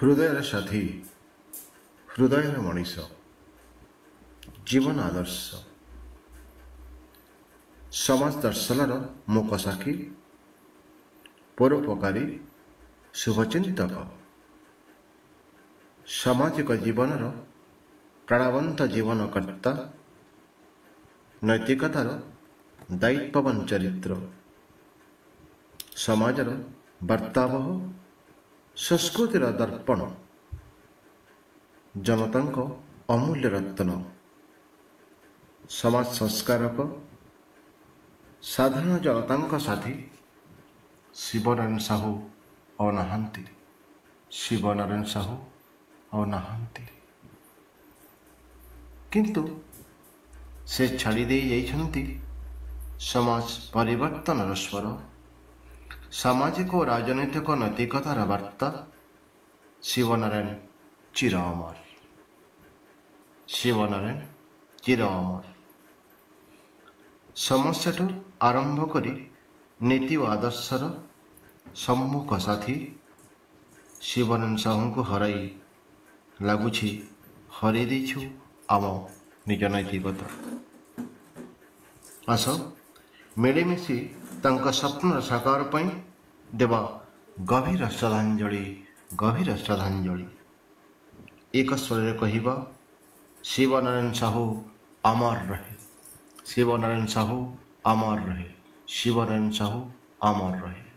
ହୃଦୟର ସାଥୀ, ହୃଦୟର ମଣିଷ, ଜୀବନ ଆଦର୍ଶ, ସମାଜ ଦର୍ଶନର ମୂକସାକ୍ଷୀ, ପରୋପକାରୀ, ଶୁଭଚିନ୍ତକ, ସାମାଜିକ ଜୀବନର ପ୍ରାଣବନ୍ତ ଜୀବନକର୍ତ୍ତା, ନୈତିକତାର ଦାୟିତ୍ୱବାନ ଚରିତ୍ର, ସମାଜର ବାର୍ତ୍ତାବହ, ସଂସ୍କୃତିର ଦର୍ପଣ, ଜନତାଙ୍କ ଅମୂଲ୍ୟ ରତ୍ନ, ସମାଜ ସଂସ୍କାରକ, ସାଧାରଣ ଜନତାଙ୍କ ସାଥୀ ଶିବନାରାୟଣ ସାହୁ ଆଉ ନାହାନ୍ତି। ଶିବନାରାୟଣ ସାହୁ ଆଉ ନାହାନ୍ତି, କିନ୍ତୁ ସେ ଛାଡ଼ି ଦେଇ ଯାଇଛନ୍ତି ସମାଜ ପରିବର୍ତ୍ତନର ସ୍ୱର, ସାମାଜିକ ଓ ରାଜନୈତିକ ନୈତିକତାର ବାର୍ତ୍ତା। ଶିବନାରାୟଣ ଚିର ଅମର, ଶିବନାରାୟଣ ଚିର ଅମର। ସମସ୍ୟାଠୁ ଆରମ୍ଭ କରି ନୀତି ଓ ଆଦର୍ଶର ସମ୍ମୁଖ ସାଥୀ ଶିବନାରାୟଣ ସାହୁଙ୍କୁ ହରାଇ ଲାଗୁଛି ହରାଇ ଦେଇଛୁ ଆମ ନିଜ ନୈତିକତା। ଆସ ମିଳିମିଶି ତାଙ୍କ ସ୍ୱପ୍ନର ସାକାର ପାଇଁ ଦେବା ଗଭୀର ଶ୍ରଦ୍ଧାଞ୍ଜଳି, ଗଭୀର ଶ୍ରଦ୍ଧାଞ୍ଜଳି। ଏକ ସ୍ୱରରେ କହିବା, ଶିବନାରାୟଣ ସାହୁ ଅମର ରହେ, ଶିବନାରାୟଣ ସାହୁ ଅମର ରହେ, ଶିବନାରାୟଣ ସାହୁ ଅମର ରହେ।